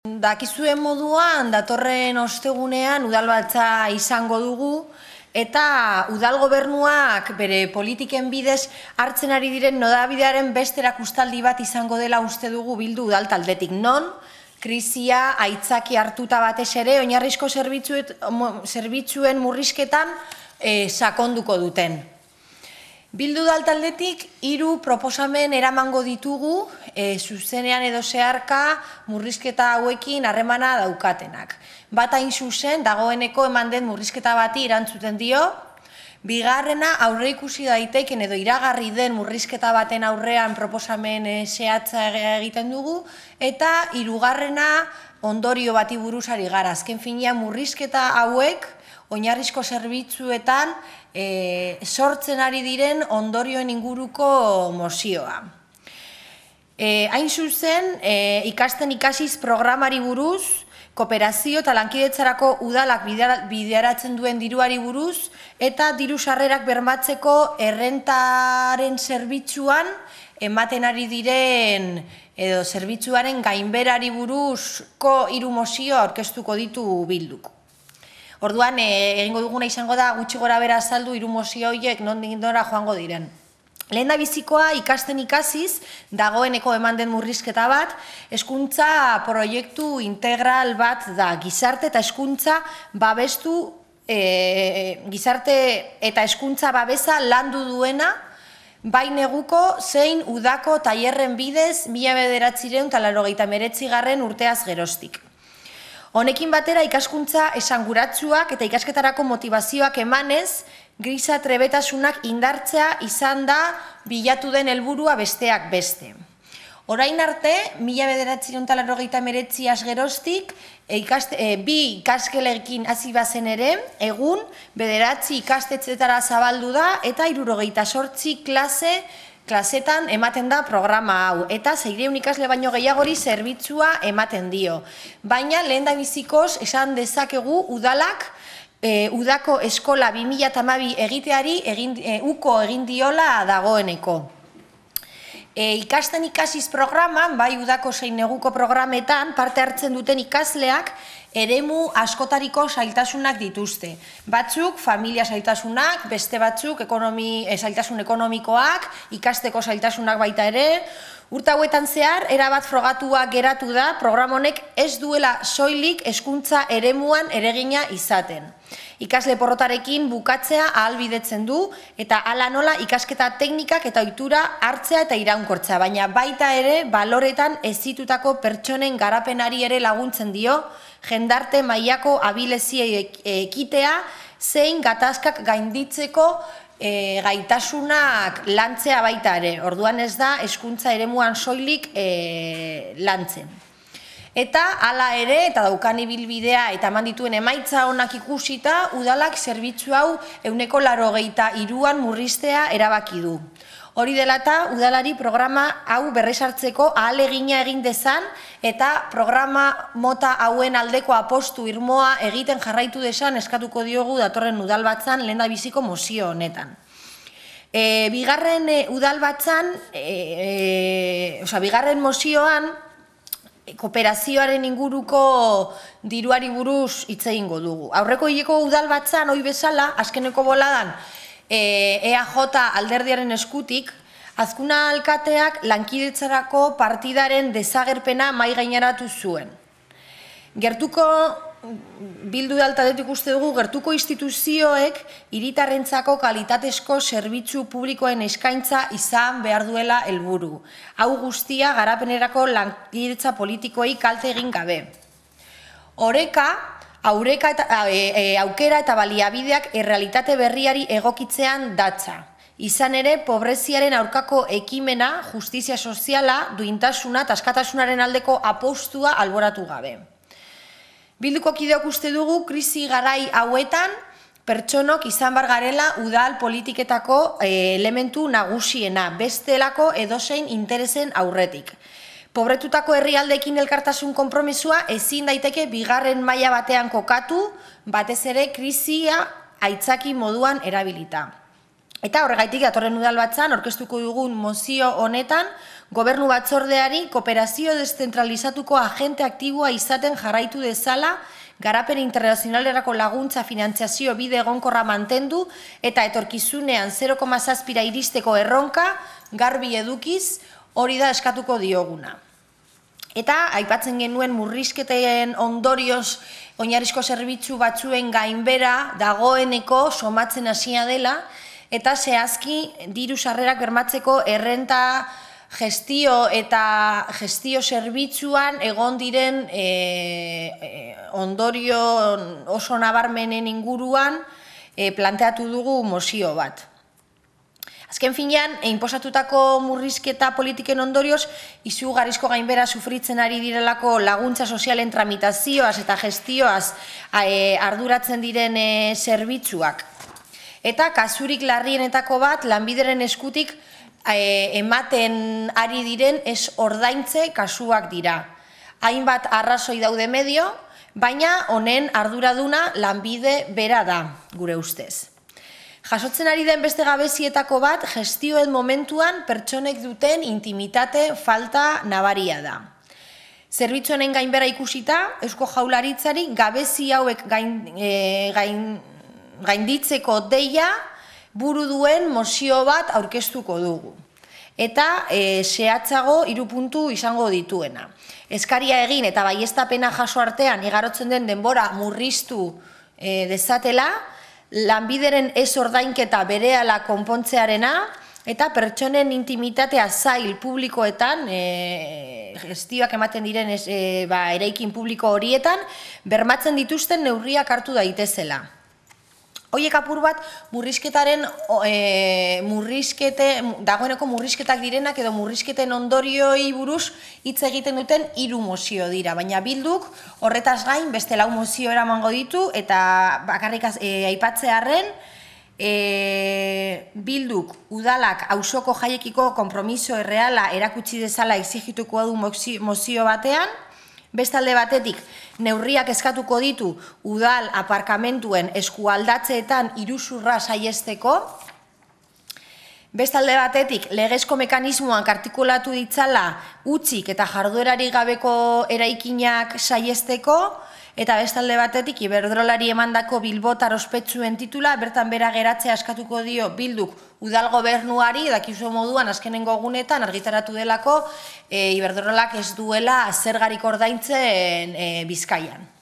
Dakizuen moduan, datorren ostegunean udalbatza izango dugu eta udal gobernuak bere politiken bidez hartzen ari diren nodabidearen beste erakustaldi bat izango dela uste dugu Bildu udal taldetik, non krisia aitzaki hartuta batez ere oinarrizko zerbitzuen murrizketan sakonduko duten. Bildu udal taldetik 3 proposamen eramango ditugu zuzenean edo zeharka murrizketa hauekin harremana daukatenak. Bat hain zuzen dagoeneko eman den murrizketa bati erantzuten dio, bigarrena aurreikusi daiteken edo iragarri den murrizketa baten aurrean proposamen zehatza egiten dugu, eta hirugarrena ondorio bati buruz ari gara. Azken finean murrizketa hauek oinarrizko zerbitzuetan sortzen ari diren ondorioen inguruko mozioa. Hain zuzen, ikasten ikasiz programari buruz, kooperazio eta lankidetzarako udalak bideratzen duen diruari buruz, eta diru sarrerak bermatzeko errentaren zerbitzuan ematen ari diren edo zerbitzuaren gainberari buruzko 3 mozio aurkeztuko ditu Bilduk. Orduan, egingo duguna izango da gutxi gora bera azaldu 3 mozio horiek nondik nora joango diren. Lehendabizikoa ikasten ikasiz, dagoeneko eman den murrizketa bat, hezkuntza proiektu integral bat da. Gizarte eta hezkuntza babestu, gizarte eta hezkuntza babesa landu duena, bai neguko zein udako tailerren bidez 1989 urteaz geroztik. Honekin batera ikaskuntza esanguratsuak eta ikasketarako motivazioak emanez, giza trebetasunak indartzea izan da bilatu den helburua besteak beste. Orain arte, 1989 geroztik, 2 ikaskelekin hasi bazen ere, egun 9 ikastetxetara zabaldu da eta 68 klasetan ematen da programa hau, eta 600 ikasle baino gehiagori zerbitzua ematen dio. Baina lehendabizikoz esan dezakegu udalak udako eskola 2012 egiteari uko egin diola dagoeneko. Ikasten ikasiz programan, bai udako zein neguko programetan parte hartzen duten ikasleak eremu askotariko zailtasunak dituzte. Batzuk familia zailtasunak, beste batzuk zailtasun ekonomikoak, ikasteko zailtasunak baita ere. Urte hauetan zehar, erabat frogatua geratu da programa honek ez duela soilik hezkuntza eremuan eragina izaten. Ikasle porrotarekin bukatzea ahalbidetzen du eta hala nola ikasketa teknikak eta ohitura hartzea eta iraunkortzea, baina baita ere baloretan hezitutako pertsonen garapenari ere laguntzen dio, jendarte mailako abileziei ekitea zein gatazkak gainditzeko gaitasunak lantzea baita ere. Orduan ez da hezkuntza eremuan soilik lantzen. Eta hala ere, eta daukan ibilbidea eta eman dituen emaitza onak ikusita, udalak zerbitzu hau 83an murriztea erabaki du. Hori dela eta udalari programa hau berresartzeko ahalegina egin dezan eta programa mota hauen aldeko apostu irmoa egiten jarraitu dezan eskatuko diogu datorren udalbatzan lehendabiziko mozio honetan. Bigarren udalbatzan, bigarren mozioan, kooperazioaren inguruko diruari buruz hitz egingo dugu. Aurreko hileko udalbatzan, hoi bezala, azkeneko boladan, EAJ alderdiaren eskutik, Azkuna alkateak lankidetzarako partidaren desagerpena mahai gaineratu zuen. Bildu udal taldetik uste dugu, gertuko instituzioek hiritarrentzako kalitatezko zerbitzu publikoen eskaintza izan behar duela helburu. Hau guztia garapenerako lankidetza politikoei kalte egin gabe. Aukera eta baliabideak errealitate berriari egokitzean datza. Izan ere, pobreziaren aurkako ekimena, justizia soziala, duintasuna eta askatasunaren aldeko apostua alboratu gabe. Bilduko kideok uste dugu, krisi garai hauetan, pertsonok izan bar garela udal politiketako elementu nagusiena, bestelako edozein interesen aurretik. Pobretutako herrialdeekin elkartasun konpromisua ezin daiteke bigarren maila batean kokatu, batez ere krisia aitzaki moduan erabilita. Eta horregaitik datorren udalbatzan aurkeztuko dugun mozio honetan Gobernu batzordeari kooperazio deszentralizatuko agente aktiboa izaten jarraitu dezala, garapen internazionalerako laguntza finantziazio bide egonkorra mantendu eta etorkizunean 0,7 iristeko erronka garbi edukiz hori da eskatuko dioguna. Eta aipatzen genuen murrizketen ondorioz oinarrizko zerbitzu batzuen gainbera dagoeneko somatzen hasia dela eta zehazki diru sarrerak bermatzeko errenta gestio eta gestio zerbitzuan egon diren ondorio oso nabarmenen inguruan planteatu dugu mozio bat. Azken finean, inposatutako murrizketa politiken ondorioz, izugarrizko gainbera sufritzen ari direlako laguntza sozialen tramitazioaz eta gestioaz arduratzen diren zerbitzuak. Eta kasurik larrienetako bat, lanbideren eskutik ematen ari diren ez ordaintze kasuak dira. Hainbat arrazoi daude medio, baina honen arduraduna lanbide bera da, gure ustez. Jasotzen ari den beste gabezietako bat, gestioen momentuan pertsonek duten intimitate falta nabaria da. Zerbitzuenen gainbera ikusita, Eusko Jaurlaritzari gabezi hauek gainditzeko deia buru duen mozio bat aurkeztuko dugu. Eta zehatzago 3 puntu izango dituena. Eskaria egin eta baieztapena jaso artean igarotzen den denbora murriztu dezatela, lanbideren ez ordainketa berehala konpontzearena eta pertsonen intimitatea zail publikoetan, gestioak ematen diren eraikin publiko horietan, bermatzen dituzten neurriak hartu daitezela. Hoiek apur bat murrizketaren, dagoeneko murrizketak direnak edo murrizketen ondorioi buruz hitz egiten duten 3 mozio dira, baina Bilduk horretaz gain beste 4 mozio eramango ditu eta bakarrik aipatzearren Bilduk udalak auzoko jaiekiko konpromiso erreala erakutsi dezala exigituko du mozio batean, bestalde batetik, neurriak eskatuko ditu udal aparkamentuen eskualdatzeetan iruzurra saihesteko, bestalde batetik, legezko mekanismoak artikulatu ditzala utzik eta jarduerari gabeko eraikinak saihesteko, eta bestalde batetik, Iberdrolari emandako bilbotar ospetsuen titula, bertan bera geratzea eskatuko dio Bilduk udal gobernuari, dakizu moduan azkenengo egunetan argitaratu delako Iberdrolak ez duela zergarik ordaintzen Bizkaian.